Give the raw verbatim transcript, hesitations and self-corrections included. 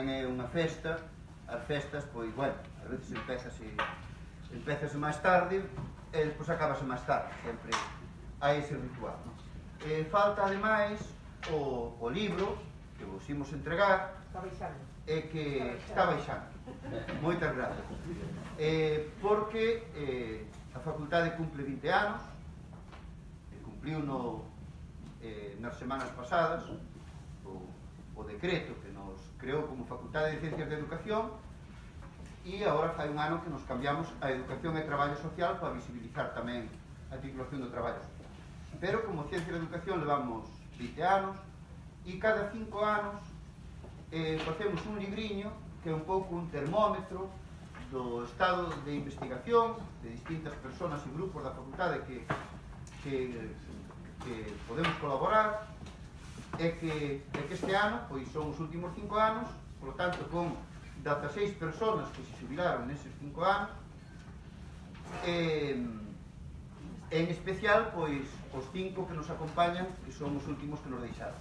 tamén é unha festa. As festas, pois, bueno, a veces empezase empezase máis tarde e despois acabase máis tarde, sempre hai ese ritual, non? Eh, falta, ademais, o, o libro que vos imos entregar e que está baixando. Moitas gracias. Eh, porque eh, a facultade cumple vinte anos, e cumpliu no, eh, nas semanas pasadas o, o decreto que nos creou como Facultade de Ciencias de Educación, e agora fai un ano que nos cambiamos a Educación e Traballo Social para visibilizar tamén a titulación do traballo social. Pero como Ciencia de Educación levamos vinte anos e cada cinco anos eh, facemos un libriño que é un pouco un termómetro do estado de investigación de distintas persoas e grupos da facultade que, que, que podemos colaborar e que, e que este ano, pois son os últimos cinco anos, por lo tanto con dezaseis persoas que se xubilaron neses cinco anos, e en especial pois os cinco que nos acompañan, que son os últimos que nos deixaron.